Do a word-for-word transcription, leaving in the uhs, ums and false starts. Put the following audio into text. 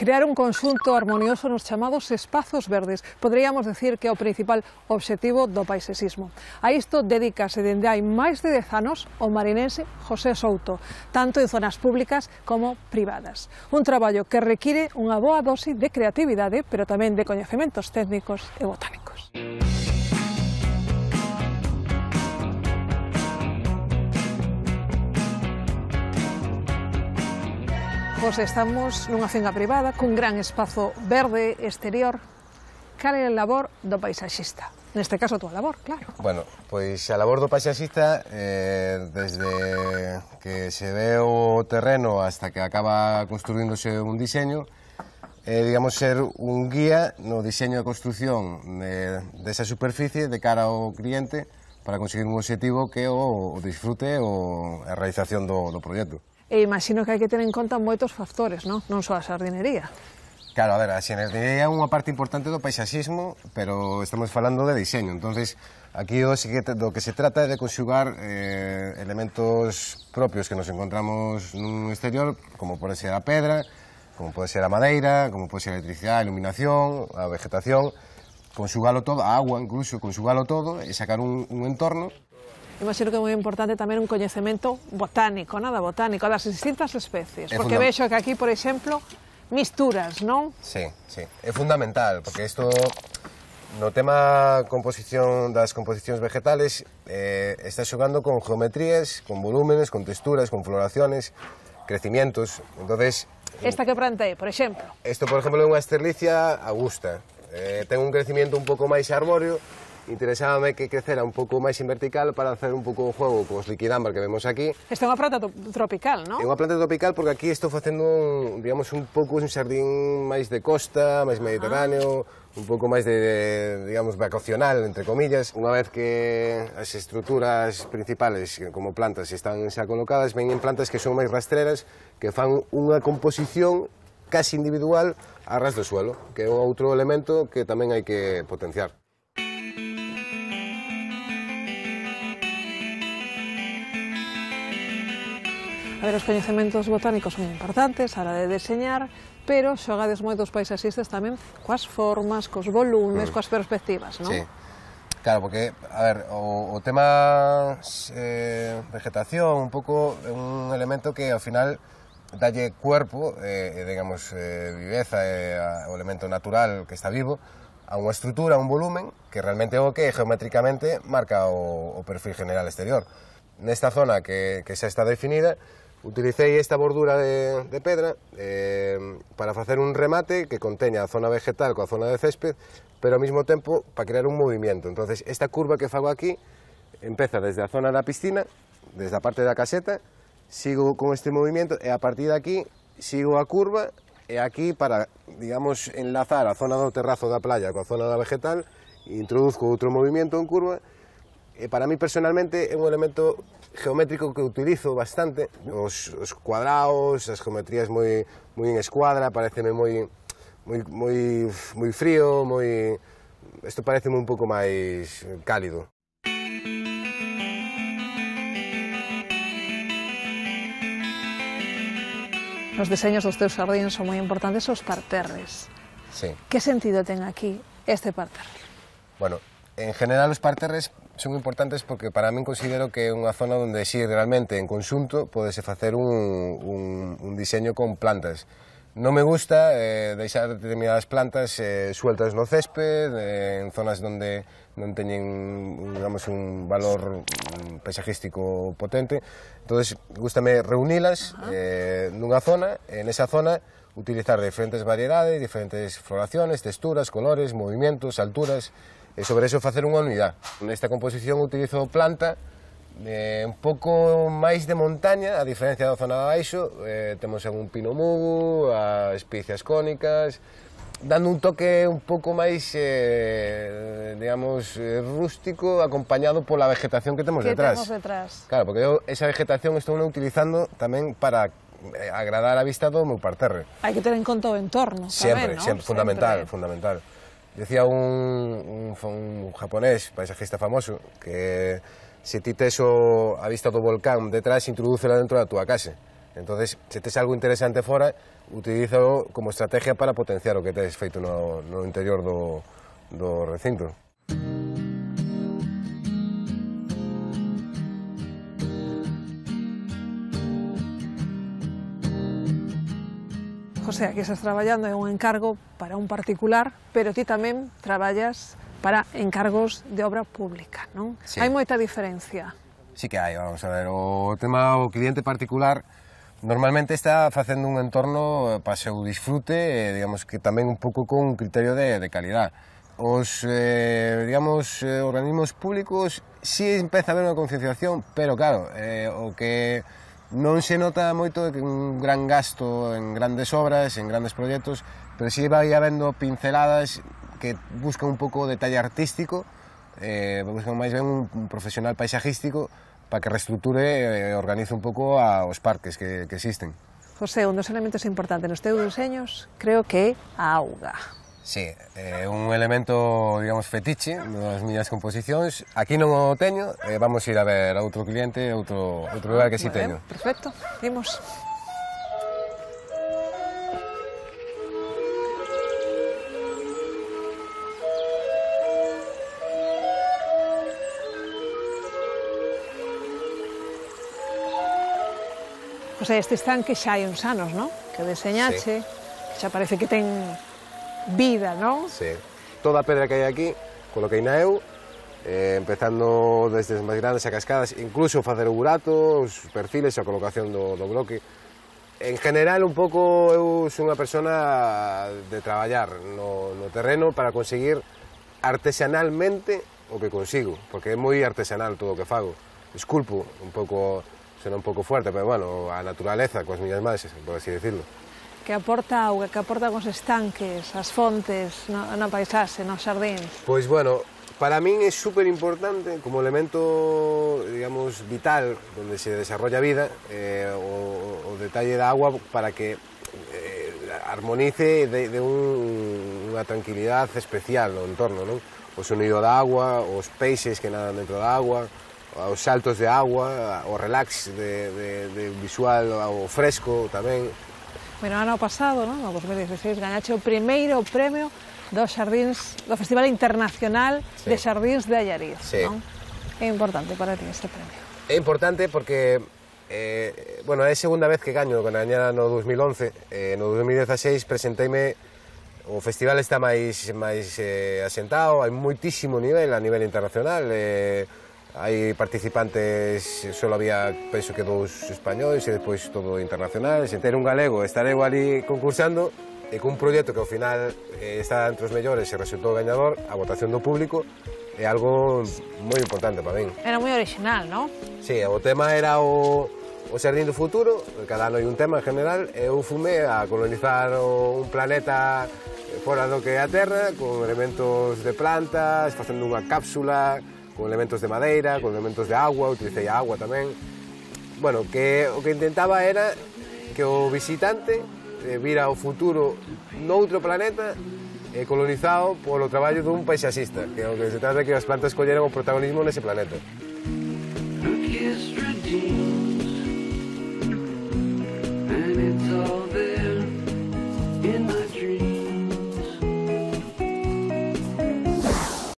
Crear un conxunto armonioso nos chamados espazos verdes. Poderíamos decir que é o principal obxectivo do paisexismo. A isto dedícase dende hai máis de dez anos o marinense José Souto, tanto en zonas públicas como privadas. Un traballo que require unha boa dose de creatividade, pero tamén de coñecementos técnicos e botánicos. Pois estamos nunha finca privada cun gran espazo verde exterior. Cal é a labor do paisaxista? Neste caso, a túa labor, claro. Bueno, pois a labor do paisaxista, eh, desde que se ve o terreno hasta que acaba construíndose un diseño, é, eh, digamos, ser un guía no diseño e construción de, desa superficie de cara ao cliente para conseguir un objetivo que é o, o disfrute ou a realización do, do proxecto. E imagino que hai que ter en conta moitos factores, non? Non só a xardinería. Claro, a ver, a xardinería é unha parte importante do paisaxismo, pero estamos falando de diseño. Entonces, aquí do que se trata é de conxugar eh, elementos propios que nos encontramos nun exterior, como pode ser a pedra, como pode ser a madeira, como pode ser a electricidade, a iluminación, a vegetación, conxugalo todo, a agua incluso, conxugalo todo e sacar un, un entorno. Imagino que é moi importante tamén un coñecemento botánico, nada botánico, das distintas especies, porque vexo que aquí, por exemplo, misturas, non? Sí, sí, é fundamental, porque isto, no tema composición das composicións vegetales, eh, está xogando con geometrías, con volúmenes, con texturas, con floraciones, crecimientos, entonces... Esta que plantei, por exemplo? Isto, por exemplo, é unha esterlicia augusta, eh, ten un crecimiento un pouco máis arbóreo. Interesábame que crecera un pouco máis en vertical para hacer un pouco o juego cos liquidámbar que vemos aquí. Esta é unha planta tropical, non? É unha planta tropical porque aquí estou facendo, un, digamos, un pouco un xardín máis de costa, máis mediterráneo, ah. un pouco máis de, digamos, vacacional, entre comillas. Unha vez que as estruturas principales, como plantas, están xa colocadas, veñen plantas que son máis rastreras, que fan unha composición casi individual a ras do suelo, que é outro elemento que tamén hai que potenciar. A ver, os coñecementos botánicos son importantes a hora de deseñar, pero xogades moitos paisaxistas tamén coas formas, cos volumes, mm. coas perspectivas, non? Sí, claro, porque, a ver, o, o tema eh, vegetación un pouco é un elemento que ao final dalle cuerpo, eh, digamos, eh, viveza, eh, o elemento natural que está vivo, a unha estrutura, a un volumen, que realmente é o que geométricamente marca o, o perfil general exterior. Nesta zona que, que xa está definida, utilicei esta bordura de, de pedra eh, para facer un remate que conteña a zona vegetal coa zona de césped, pero ao mesmo tempo para crear un movimento. Entonces, esta curva que fago aquí empeza desde a zona da piscina, desde a parte da caseta, sigo con este movimento e a partir de aquí sigo a curva e aquí para, digamos, enlazar a zona do terrazo da playa coa zona da vegetal, introduzco outro movimento en curva e para mí personalmente é un elemento geométrico que utilizo bastante, os, os cuadrados, as geometrías moi, moi en escuadra, pareceme moi, moi, moi, moi frío, moi... Isto pareceme un pouco máis cálido. Os deseños dos teus xardíns son moi importantes os parterres. Sí. Que sentido ten aquí este parterre? Bueno, en general os parterres son importantes porque para min considero que é unha zona onde si realmente en conxunto podese facer un, un, un diseño con plantas. Non me gusta eh, deixar determinadas plantas eh, sueltas no césped, eh, en zonas onde non teñen, digamos, un valor paisajístico potente. Entonces, gústame reunilas eh, nunha zona, e nesa zona utilizar diferentes variedades, diferentes floraciones, texturas, colores, movimientos, alturas, e sobre eso facer unha unidade. Nesta composición utilizo planta eh, un pouco máis de montaña, a diferencia da zona de abaixo, eh, temos un pino mugo, as especias cónicas, dando un toque un pouco máis, eh, digamos, eh, rústico, acompañado pola vegetación que temos que detrás. Que temos detrás. Claro, porque eu esa vegetación estou utilizando tamén para agradar a vista do meu parterre. Hai que ter en conta o entorno, sempre, tamén, non? Sempre, fundamental, sempre. fundamental. Decía un, un, un japonés, paisajista famoso, que se ti tes a vista do volcán detrás, introdúcela dentro da túa casa. Entonces, se tes algo interesante fora, utilízalo como estrategia para potenciar o que tes feito no, no interior do, do recinto. José, aquí estás traballando en un encargo para un particular, pero ti tamén traballas para encargos de obra pública, non? Sí. Hai moita diferencia. Sí que hai, vamos a ver, o tema o cliente particular normalmente está facendo un entorno para seu disfrute, eh, digamos que tamén un pouco con un criterio de, de calidad. Os, eh, digamos, eh, organismos públicos sí empeza a haber unha concienciación, pero claro, eh, o que non se nota moito un gran gasto en grandes obras, en grandes proxectos, pero sí vai habendo pinceladas que buscan un pouco o detalle artístico, eh, buscan máis ben un, un profesional paisajístico para que reestructure e organice un pouco a, os parques que, que existen. José, un dos elementos importantes nos teus deseños creo que é a auga. Sí, é eh, un elemento, digamos, fetiche nas miñas composicións. Aquí non o teño, eh, vamos ir a ver a outro cliente, outro, outro lugar que si sí teño. Perfecto, imos. José, este estanque xa hai uns anos, non? Que deseñache, sí. Xa parece que ten vida, non? Sí. Toda a pedra que hai aquí, coloquei na eu, eh, empezando desde as máis grandes a cascadas, incluso facer o burato, os perfiles, a colocación do, do bloque. En general, un pouco, eu sou unha persona de traballar no, no terreno para conseguir artesanalmente o que consigo, porque é moi artesanal todo o que fago. Esculpo un pouco, sona un pouco fuerte, pero bueno, a naturaleza, coas miñas mans, por así decirlo. Que aporta auga, que aporta os estanques, as fontes, na, na paisaxe, nos xardíns? Pois, bueno, para min é super importante como elemento, digamos, vital, onde se desarrolla a vida, eh, o, o detalle da agua para que eh, armonice de, de un, unha tranquilidade especial no entorno, non? O sonido da agua, os peixes que nadan dentro da agua, os saltos de agua, o relax de, de, de visual, o fresco tamén. Bueno, ano pasado, non? No dos mil dieciséis, gañache o primeiro premio dos xardíns, do Festival Internacional sí. de Xardíns de Allariz, sí. non? É importante para ti este premio. É importante porque, eh, bueno, é a segunda vez que gaño, que gañara no dos mil once, eh, no dos mil dieciséis presenteime, o festival está máis, máis eh, asentado, hai moitísimo nivel a nivel internacional, eh, hai participantes, só había, penso que dous españoles e depois todo internacional, sen ter un galego, estar eu ali concursando e cun proxecto que ao final eh, está entre os mellores e resultou gañador, a votación do público é algo moi importante para min. Era moi original, non? Sí, o tema era o, o Xardín do Futuro, cada ano hai un tema en general, e eu fume a colonizar o, un planeta fora do que é a Terra, con elementos de plantas, facendo unha cápsula, con elementos de madeira, con elementos de agua, utilicei a agua tamén. Bueno, que o que intentaba era que o visitante eh, vira o futuro noutro planeta eh, colonizado polo traballo dun paisaxista, que o que se trata é que as plantas colleran o protagonismo nese planeta.